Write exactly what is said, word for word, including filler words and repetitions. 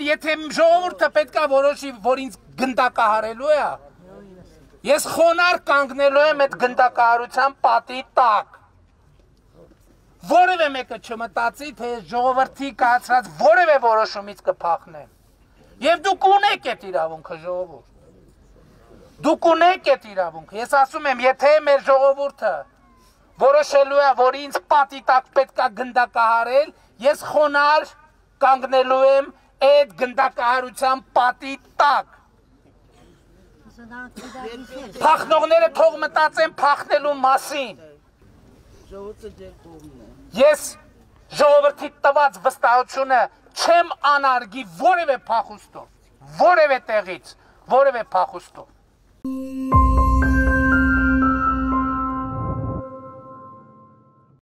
Եթե ժողովուրդը պետք է որոշի, որ ինձ գնդակահարելու է, ես խոնարհ կանգնելու եմ այդ գնդակահարության պատի տակ։ Որևէ մեկը չմտածի, թե ժողովրդի կայացրած որևէ որոշումից կփախնեմ։ Եվ դուք ունեք այդ իրավունքը, ժողովուրդ։ Դուք ունեք այդ իրավունքը։ Ես ասում եմ, եթե մեր ժողովուրդը որոշելու է, որ ինձ պատի տակ պետք է գնդակահարել, ես խոնարհ կանգնելու եմ այդ գնդակահարության պատի տակ։ Փախնողները թող մտածեն փախնելու մասին։ Ես ժողովրդի տված վստահությունը չեմ անարգի որևէ փախուստով, որևէ տեղից, որևէ փախուստով։